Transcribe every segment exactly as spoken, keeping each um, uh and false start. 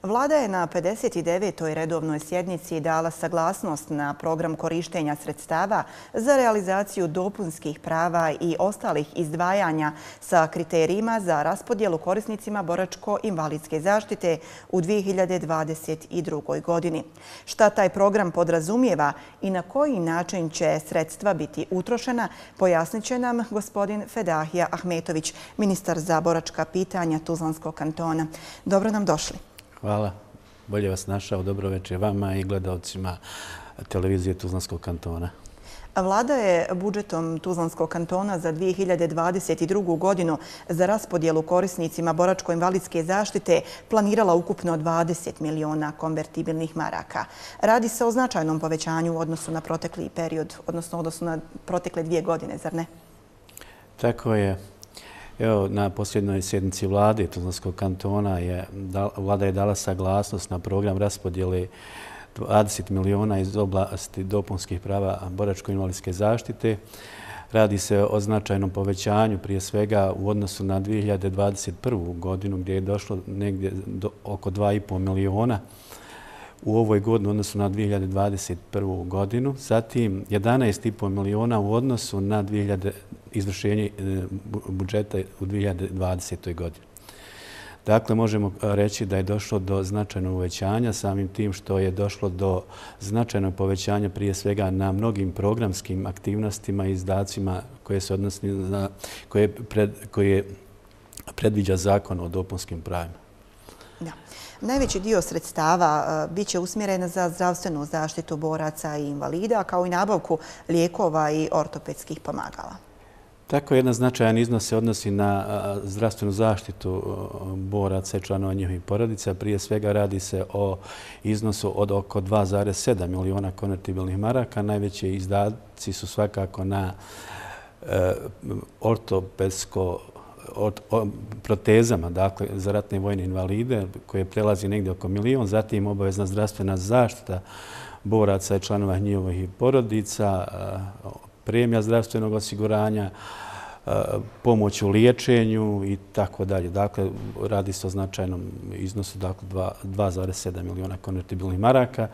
Vlada je na pedeset devetoj redovnoj sjednici dala saglasnost na program korištenja sredstava za realizaciju dopunskih prava i ostalih izdvajanja sa kriterijima za raspodjelu korisnicima boračko-invalidske zaštite u dvije hiljade dvadeset drugoj. godini. Šta taj program podrazumijeva i na koji način će sredstva biti utrošena, pojasnit će nam gospodin Fedahija Ahmetović, ministar za boračka pitanja Tuzlanskog kantona. Dobro nam došli. Hvala. Bolje vas našao. Dobro večer vama i gledalcima televizije Tuzlanskog kantona. Vlada je budžetom Tuzlanskog kantona za dvije hiljade dvadeset drugu. godinu za raspodjelu korisnicima boračko-invalidske zaštite planirala ukupno dvadeset miliona konvertibilnih maraka. Radi se o značajnom povećanju u odnosu na protekli period, odnosno u odnosu na protekle dvije godine, zar ne? Tako je. Evo, na posljednoj sjednici vlade Tuzlanskog kantona je, vlada je dala saglasnost na program raspodjele dvadeset miliona iz oblasti dopunskih prava boračko-invalidske zaštite. Radi se o značajnom povećanju, prije svega u odnosu na dvije hiljade dvadeset prvu. godinu, gdje je došlo negdje do oko dva i pol miliona u ovoj godini u odnosu na dvije hiljade dvadeset prvu. godinu. Zatim jedanaest i pol miliona u odnosu na izvršenje budžeta u dvije hiljade dvadesetoj. godini. Dakle, možemo reći da je došlo do značajnog uvećanja, samim tim što je došlo do značajnog povećanja prije svega na mnogim programskim aktivnostima i izdacima koje se odnosi na koje, pred, koje predviđa zakon o dopunskim pravima. Da. Najveći dio sredstava bit će usmjeren za zdravstvenu zaštitu boraca i invalida, kao i nabavku lijekova i ortopedskih pomagala. Tako jedan značajan iznos se odnosi na zdravstvenu zaštitu boraca i članova njihovih porodica. Prije svega radi se o iznosu od oko dva zarez sedam miliona konvertibilnih maraka. Najveći izdaci su svakako na ortopedsko protezama, dakle za ratne i vojne invalide, koje prelazi negdje oko milion. Zatim obavezna zdravstvena zaštita boraca i članova njihovih porodica, premija zdravstvenog osiguranja, pomoć u liječenju i tako dalje. Dakle, radi se o značajnom iznosu, dakle dva zarez sedam miliona konvertibilnih maraka.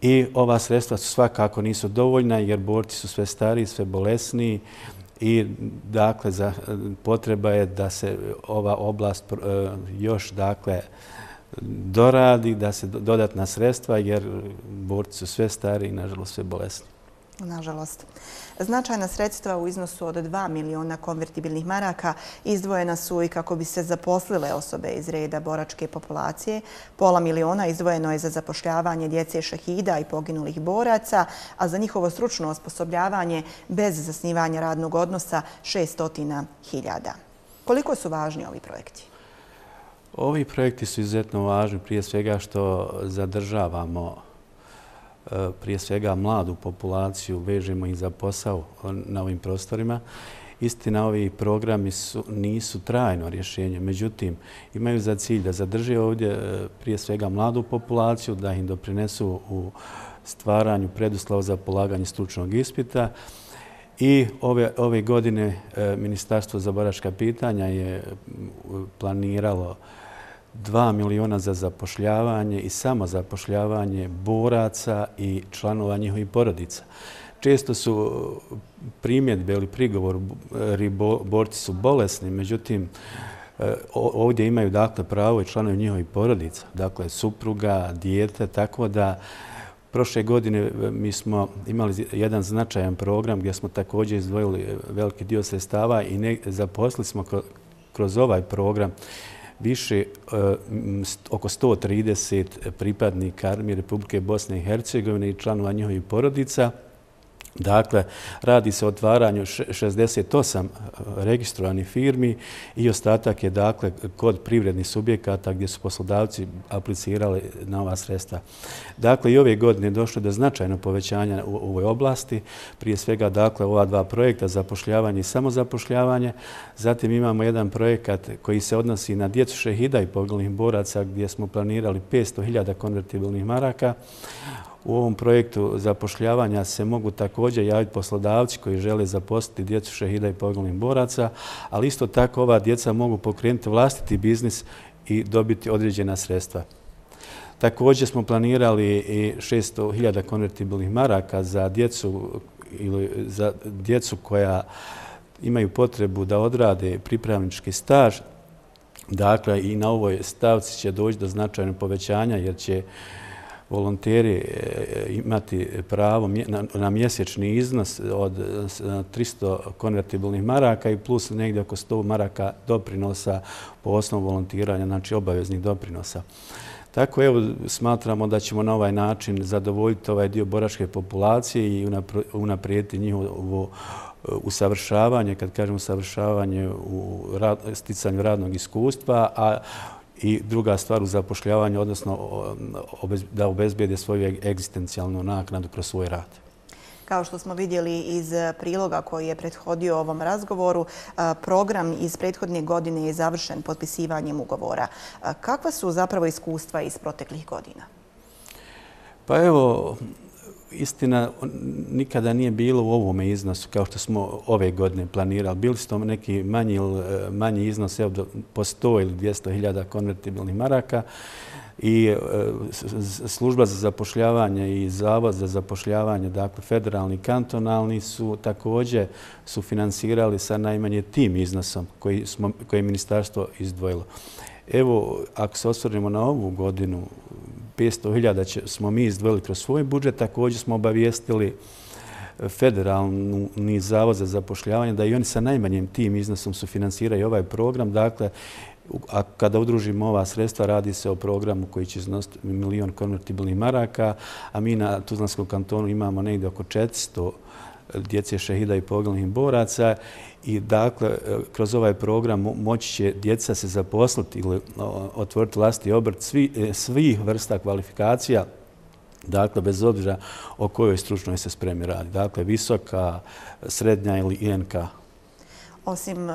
I ova sredstva su svakako nisu dovoljna jer borci su sve stariji, sve bolesniji i dakle potreba je da se ova oblast još dakle doradi, da se dodatna sredstva jer borci su sve stariji i nažalost sve bolesni. Nažalost. Značajna sredstva u iznosu od dva miliona konvertibilnih maraka izdvojena su i kako bi se zaposlile osobe iz reda boračke populacije. Pola miliona izdvojeno je za zapošljavanje djece šehida i poginulih boraca, a za njihovo stručno osposobljavanje bez zasnivanja radnog odnosa šesnaest hiljada. Koliko su važni ovi projekti? Ovi projekti su izuzetno važni, prije svega što zadržavamo prije svega mladu populaciju, vežemo i za posao na ovim prostorima. Istina, ovi programi su, nisu trajno rješenje, međutim, imaju za cilj da zadrže ovdje prije svega mladu populaciju, da im doprinesu u stvaranju preduslova za polaganje stručnog ispita. I ove, ove godine Ministarstvo za boračka pitanja je planiralo dva miliona za zapošljavanje i samozapošljavanje boraca i članova njihovih porodica. Često su primjedbe ili prigovor, borci su bolesni, međutim, ovdje imaju dakle pravo i članovi njihovih porodica, dakle supruga, dijete, tako da prošle godine mi smo imali jedan značajan program gdje smo također izdvojili veliki dio sredstava i ne, zaposlili smo kroz ovaj program više oko sto trideset pripadnika Armije Republike Bosne i Hercegovine i članova njihovih porodica. Dakle, radi se o otvaranju šezdeset osam registrovanih firmi i ostatak je dakle kod privrednih subjekata gdje su poslodavci aplicirali na ova sredstva. Dakle, i ove godine je došlo do značajnog povećanja u ovoj oblasti. Prije svega, dakle, ova dva projekta, zapošljavanje i samozapošljavanje. Zatim imamo jedan projekat koji se odnosi na djecu šehida i poginulih boraca gdje smo planirali petsto hiljada konvertibilnih maraka. U ovom projektu zapošljavanja se mogu također javiti poslodavci koji žele zaposliti djecu šehida i poginulih boraca, ali isto tako ova djeca mogu pokrenuti vlastiti biznis i dobiti određena sredstva. Također smo planirali i šesto hiljada konvertibilnih maraka za djecu ili za djecu koja imaju potrebu da odrade pripravnički staž. Dakle, i na ovoj stavci će doći do značajnog povećanja jer će volonteri imati pravo na mjesečni iznos od tristo konvertibilnih maraka i plus negdje oko sto maraka doprinosa po osnovu volontiranja, znači obaveznih doprinosa. Tako evo smatramo da ćemo na ovaj način zadovoljiti ovaj dio boračke populacije i unaprijediti njihovo usavršavanje, kad kažem usavršavanje u sticanju radnog iskustva, a i druga stvar u zapošljavanju, odnosno da obezbijede svoju egzistencijalnu naknadu kroz svoj rad. Kao što smo vidjeli iz priloga koji je prethodio ovom razgovoru, program iz prethodne godine je završen potpisivanjem ugovora. Kakva su zapravo iskustva iz proteklih godina? Pa evo, istina, nikada nije bilo u ovome iznosu kao što smo ove godine planirali. Bili su to neki manji, manji iznos, evo, po sto ili dvjesto hiljada konvertibilnih maraka i služba za zapošljavanje i zavod za zapošljavanje, dakle federalni i kantonalni, su također sufinansirali sa najmanje tim iznosom koji, smo, koje je ministarstvo izdvojilo. Evo, ako se osvrnemo na ovu godinu, petsto hiljada smo mi izdvojili kroz svoj budžet, također smo obavijestili federalni zavod za zapošljavanje da i oni sa najmanjim tim iznosom sufinansiraju ovaj program. Dakle, a kada udružimo ova sredstva, radi se o programu koji će iznositi milion konvertibilnih maraka, a mi na Tuzlanskom kantonu imamo negdje oko četiristo djece šehida i poginulih boraca i dakle, kroz ovaj program moći će djeca se zaposliti ili otvoriti vlastiti obrt svih vrsta kvalifikacija, dakle, bez obzira o kojoj stručnoj se spremi radi. Dakle, visoka, srednja ili I N K. Osim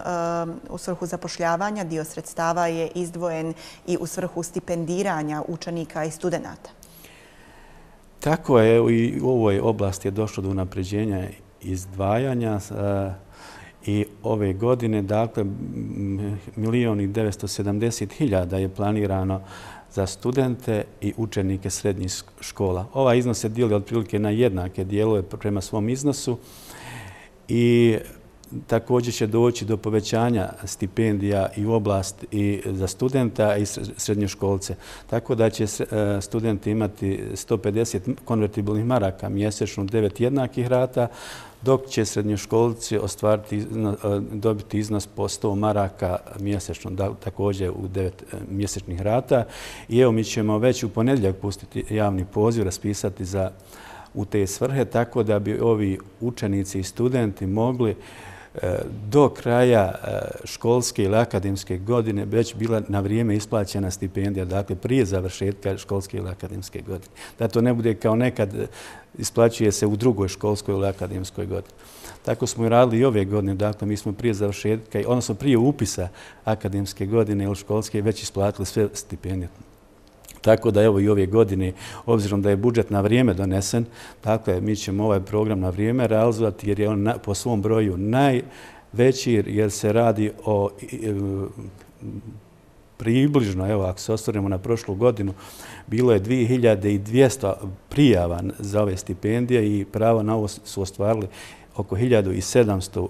u svrhu zapošljavanja, dio sredstava je izdvojen i u svrhu stipendiranja učenika i studenata. Tako je, i u ovoj oblasti je došlo do unapređenja izdvajanja i ove godine, dakle, milion i devetsto sedamdeset hiljada je planirano za studente i učenike srednjih škola. Ovaj iznos se dijeli otprilike na jednake dijelove prema svom iznosu i također će doći do povećanja stipendija i u oblast i za studenta i srednjoškolce. Tako da će studenti imati sto pedeset konvertibilnih maraka mjesečno, devet jednakih rata, dok će srednjoškolci ostvariti, dobiti iznos po sto maraka mjesečno, također u devet mjesečnih rata. I evo mi ćemo već u ponedjeljak pustiti javni poziv, raspisati za u te svrhe, tako da bi ovi učenici i studenti mogli do kraja školske ili akademske godine već bila na vrijeme isplaćena stipendija, dakle prije završetka školske ili akademske godine. Da to ne bude kao nekad isplaćuje se u drugoj školskoj ili akademskoj godini. Tako smo i radili i ove godine, dakle mi smo prije završetka, odnosno prije upisa akademske godine ili školske već isplatili sve stipendije. Tako da evo i ove godine, obzirom da je budžet na vrijeme donesen, dakle mi ćemo ovaj program na vrijeme realizovati jer je on po svom broju najveći jer se radi o približno, evo ako se osvrnemo na prošlu godinu, bilo je dvije hiljade dvjesto prijava za ove stipendije i pravo na ovo su ostvarili oko hiljadu sedamsto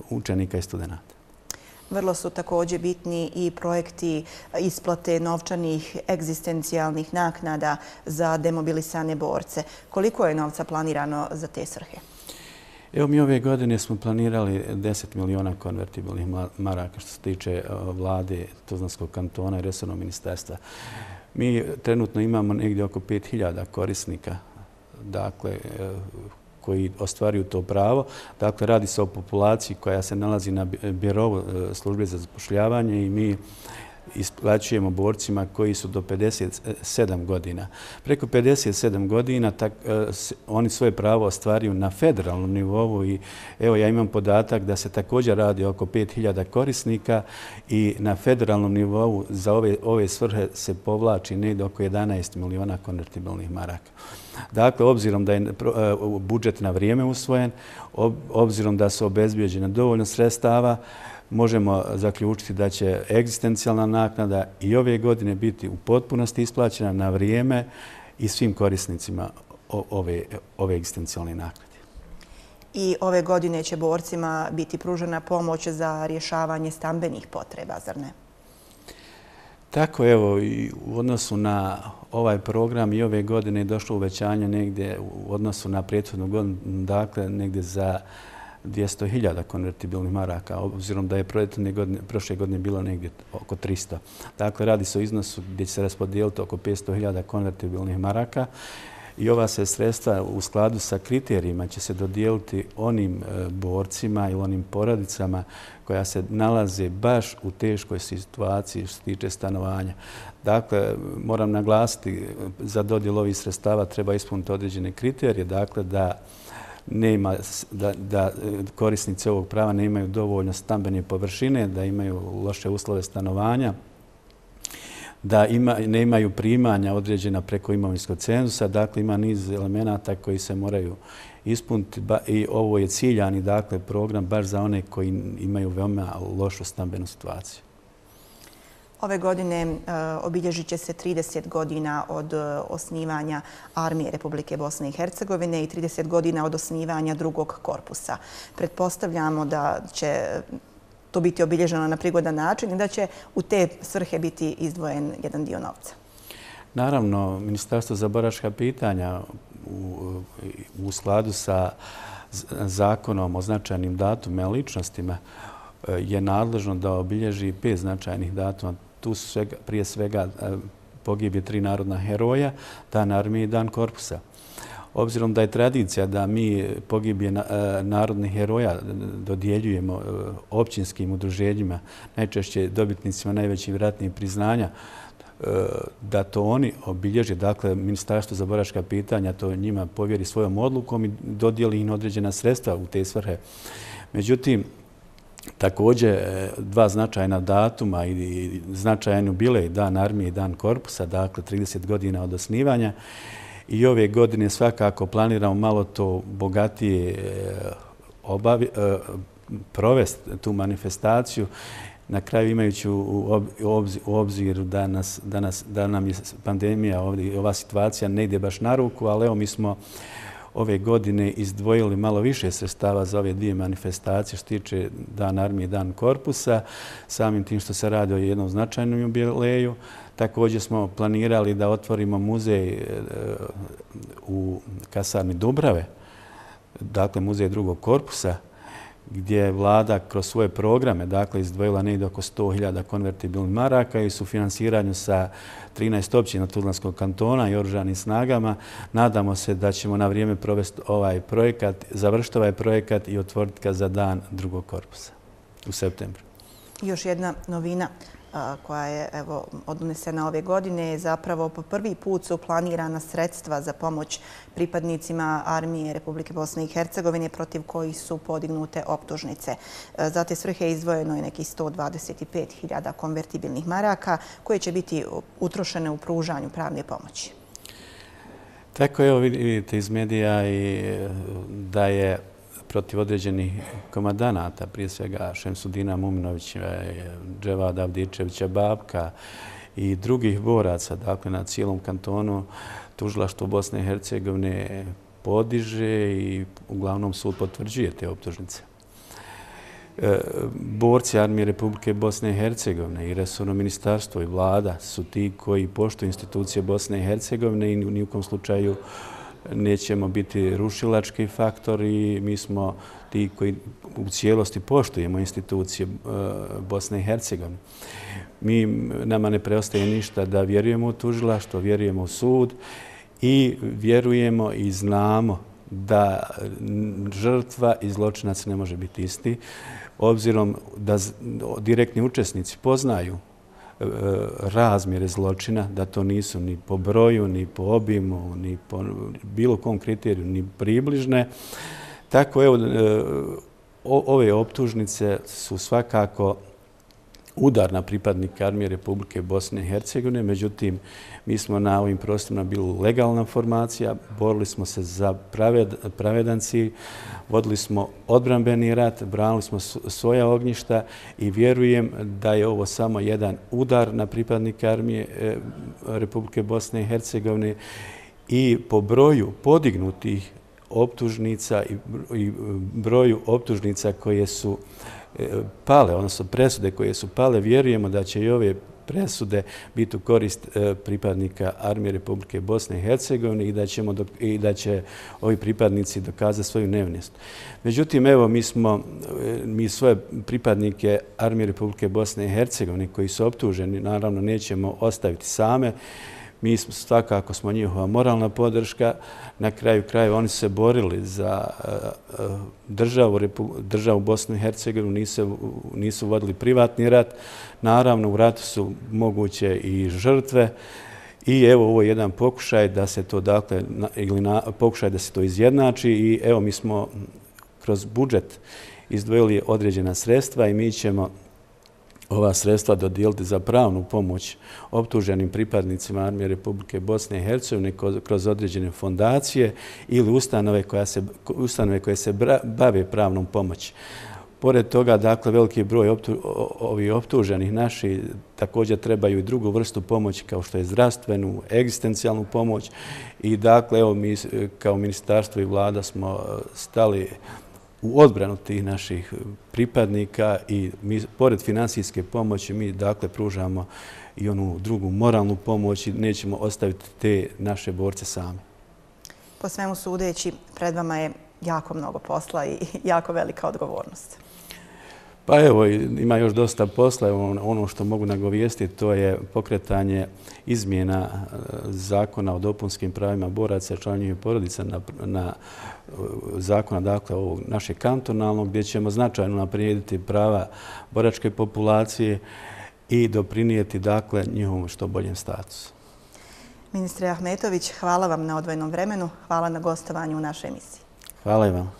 učenika i studenata. Vrlo su također bitni i projekti isplate novčanih egzistencijalnih naknada za demobilisane borce. Koliko je novca planirano za te svrhe? Evo mi ove godine smo planirali deset miliona konvertibilnih maraka što se tiče vlade Tuzlanskog kantona i resornog ministarstva. Mi trenutno imamo negdje oko pet hiljada korisnika, dakle, koji ostvaruju to pravo. Dakle, radi se o populaciji koja se nalazi na birovu službe za zapošljavanje i mi isplaćujemo borcima koji su do pedeset sedam godina. Preko pedeset sedam godina tak, oni svoje pravo ostvaruju na federalnom nivou i evo ja imam podatak da se također radi oko pet hiljada korisnika i na federalnom nivou za ove, ove svrhe se povlači negdje oko jedanaest miliona konvertibilnih maraka. Dakle, obzirom da je budžet na vrijeme usvojen, obzirom da su obezbijeđena dovoljno sredstava, možemo zaključiti da će egzistencijalna naknada i ove godine biti u potpunosti isplaćena na vrijeme i svim korisnicima ove, ove egzistencijalne naknade. I ove godine će borcima biti pružena pomoć za rješavanje stambenih potreba, zar ne? Tako, evo, i u odnosu na ovaj program i ove godine je došlo uvećanje negdje u odnosu na prethodnu godinu, dakle, negdje za dvjesto hiljada konvertibilnih maraka, obzirom da je godine, prošle godine bilo negdje oko tristo. Dakle, radi se o iznosu gdje će se raspodijeliti oko petsto hiljada konvertibilnih maraka i ova se sredstva u skladu sa kriterijima će se dodijeliti onim borcima ili onim porodicama koja se nalaze baš u teškoj situaciji što se tiče stanovanja. Dakle, moram naglasiti, za dodjelu ovih sredstava treba ispuniti određene kriterije, dakle da nema, da, da korisnici ovog prava ne imaju dovoljno stambene površine, da imaju loše uslove stanovanja, da ima, ne imaju primanja određena preko imovinskog cenzusa. Dakle, ima niz elemenata koji se moraju ispuniti i ovo je ciljani, dakle, program baš za one koji imaju veoma lošu stambenu situaciju. Ove godine obilježit će se trideset godina od osnivanja Armije Republike Bosne i Hercegovine i trideset godina od osnivanja drugog korpusa. Pretpostavljamo da će to biti obilježeno na prigodan način i da će u te svrhe biti izdvojen jedan dio novca. Naravno, Ministarstvo za boračka pitanja u, u skladu sa zakonom o značajnim datumima i ličnostima je nadležno da obilježi pet značajnih datuma. Tu su svega, prije svega pogibije tri narodna heroja, Dan armije i Dan korpusa. Obzirom da je tradicija da mi pogibije narodnih heroja dodjeljujemo općinskim udruženjima, najčešće dobitnicima najvećih ratnih priznanja, da to oni obilježe, dakle, Ministarstvo za boračka pitanja to njima povjeri svojom odlukom i dodijeli im određena sredstva u te svrhe. Međutim, također, dva značajna datuma i značajan jubilej, Dan armije i Dan korpusa, dakle trideset godina od osnivanja. I ove godine svakako planiramo malo to bogatije obavi, provesti tu manifestaciju. Na kraju imajući u obziru da, nas, da, nas, da nam je pandemija, ovdje, ova situacija ne ide baš na ruku, ali evo mi smo ove godine izdvojili malo više sredstava za ove dvije manifestacije što tiče Dan armije i Dan korpusa, samim tim što se radi o jednom značajnom jubileju. Također smo planirali da otvorimo muzej u kasarni Dubrave, dakle muzej drugog korpusa, gdje je vlada kroz svoje programe dakle, izdvojila negdje oko sto hiljada konvertibilnih maraka i su finansiranju sa trinaest općina Tuzlanskog kantona i oružanim snagama. Nadamo se da ćemo na vrijeme provesti ovaj projekat, završiti ovaj projekat i otvoriti ga za Dan drugog korpusa u septembru. Još jedna novina koja je evo, odnesena ove godine je zapravo po prvi put su planirana sredstva za pomoć pripadnicima Armije Republike Bosne i Hercegovine protiv kojih su podignute optužnice. Za te svrhe izdvojeno je nekih sto dvadeset pet hiljada konvertibilnih maraka koje će biti utrošene u pružanju pravne pomoći. Tako je, vidite iz medija i da je protiv određenih komandanata, prije svega Šemsudina Muminovića, Dževada Avdičevića Babka i drugih boraca, dakle na cijelom kantonu, tužilaštvo Bosne i Hercegovine podiže i uglavnom sud potvrđuje te optužnice. Borci Armije Republike Bosne i Hercegovine i resorno ministarstvo i vlada su ti koji poštuju institucije Bosne i Hercegovine i ni u kom slučaju nećemo biti rušilački faktor i mi smo ti koji u cijelosti poštujemo institucije Bosne i Hercegovine. Mi, nama ne preostaje ništa da vjerujemo u tužilaštvo, vjerujemo u sud i vjerujemo i znamo da žrtva i zločinac ne može biti isti, obzirom da direktni učesnici poznaju razmjere zločina, da to nisu ni po broju, ni po obimu, ni po bilo kom kriteriju, ni približne. Tako, evo, ove optužnice su svakako udar na pripadnike armije Republike Bosne i Hercegovine. Međutim, mi smo na ovim prostorima bili legalna formacija, borili smo se za pravedan cilj, vodili smo odbrambeni rat, branili smo svoja ognjišta i vjerujem da je ovo samo jedan udar na pripadnike armije Republike Bosne i Hercegovine i po broju podignutih optužnica i broju optužnica koje su pale, odnosno presude koje su pale, vjerujemo da će i ove presude biti u korist pripadnika armije Republike Bosne i Hercegovine i da, ćemo, i da će ovi pripadnici dokazati svoju nevinost. Međutim, evo, mi smo mi svoje pripadnike armije Republike Bosne i Hercegovine koji su optuženi, naravno, nećemo ostaviti same. Mi smo svakako smo njihova moralna podrška. Na kraju krajeva oni su se borili za državu, državu Bosnu i Hercegovinu, nisu, nisu vodili privatni rat. Naravno, u ratu su moguće i žrtve. I evo, ovo je jedan pokušaj da se to, dakle, ili na, pokušaj da se to izjednači. I evo, mi smo kroz budžet izdvojili određena sredstva i mi ćemo ova sredstva dodijeliti za pravnu pomoć optuženim pripadnicima armije Republike Bosne i Hercegovine kroz određene fondacije ili ustanove, koja se, ustanove koje se bave pravnom pomoći. Pored toga, dakle, veliki broj optu, ovih optuženih naši također trebaju i drugu vrstu pomoći kao što je zdravstvenu, egzistencijalnu pomoć i dakle, evo, mi kao ministarstvo i vlada smo stali u odbranu tih naših pripadnika i mi, pored finansijske pomoći, mi dakle pružamo i onu drugu moralnu pomoć i nećemo ostaviti te naše borce same. Po svemu sudeći, pred vama je jako mnogo posla i jako velika odgovornost. Pa evo, ima još dosta posla. Ono što mogu nagovijestiti, to je pokretanje izmjena zakona o dopunskim pravima boraca i članova porodica na, na zakona, dakle, ovog našeg kantonalnog, gdje ćemo značajno naprijediti prava boračke populacije i doprinijeti, dakle, njihovom što boljem statusu. Ministre Ahmetović, hvala vam na odvojenom vremenu. Hvala na gostovanju u našoj emisiji. Hvala i vam.